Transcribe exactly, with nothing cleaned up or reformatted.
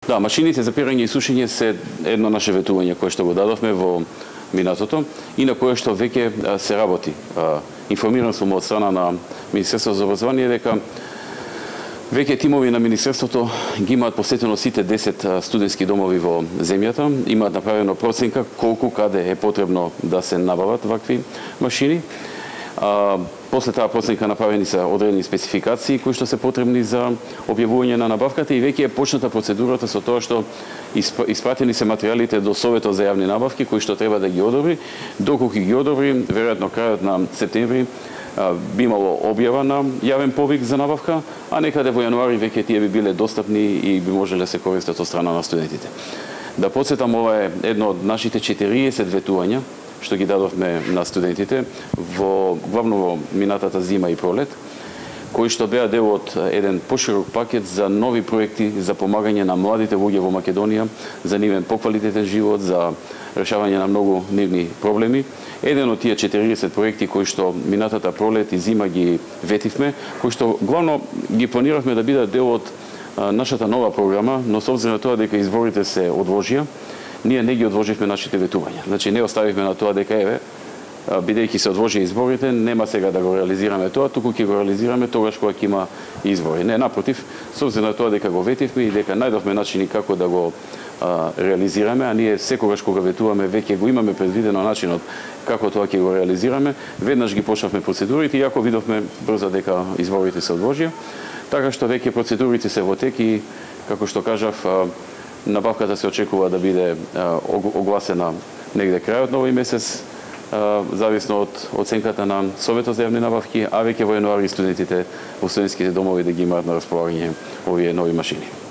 Да, машините за перење и сушење се едно наше ветување кое што го дадовме во минатото и на кое што веќе се работи. Информиран сум од страна на Министерството за образование дека веќе тимови на Министерството ги имаат посетено сите десет студентски домови во земјата, имаат направено проценка колку каде е потребно да се набават вакви машини. А, после таа проценка направени се одредени спецификации кои што се потребни за објавување на набавката и веќе е почната процедурата со тоа што испратени се материјалите до Советот за јавни набавки кои што треба да ги одобри. Доколку ги одобри, веројатно крајот на септември би имало објава на јавен повик за набавка, а некаде во јануари веќе тие би биле достапни и би можеле да се користат од страна на студентите. Да подсетам, ова е едно од нашите четириесет ветувања што ги дадовме на студентите во главно во минатата зима и пролет, кои што беа дел од еден поширок пакет за нови проекти за помагање на младите луѓе во Македонија, за нивен поквалитетен живот, за решавање на многу нивни проблеми. Еден од тие четириесет проекти кои што минатата пролет и зима ги ветивме, кои што главно ги планиравме да бидат дел од нашата нова програма, но со обзир на тоа дека изборите се одложија, ние не ги одложивме нашите ветувања. Значи не оставивме на тоа дека еве, бидејќи се одложи изборите, нема сега да го реализираме тоа, туку ќе го реализираме тогаш кога ќе има избори. Не, напротив, со обзир на тоа дека го ветивме и дека најдовме начини како да го а, реализираме, а ние секогаш кога ветуваме веќе го имаме предвидено начинот како тоа ќе го реализираме, веднаш ги почнавме процедурите и ако видовме брзо дека изборите се одложија, така што веќе процедурите се во тек и како што кажав, набавката се очекува да биде огласена негде крајот на овој месец, зависно од оценката на Советот за јавни набавки, а веќе во јануари студентите во студентските домови да ги имаат на располагање овие нови машини.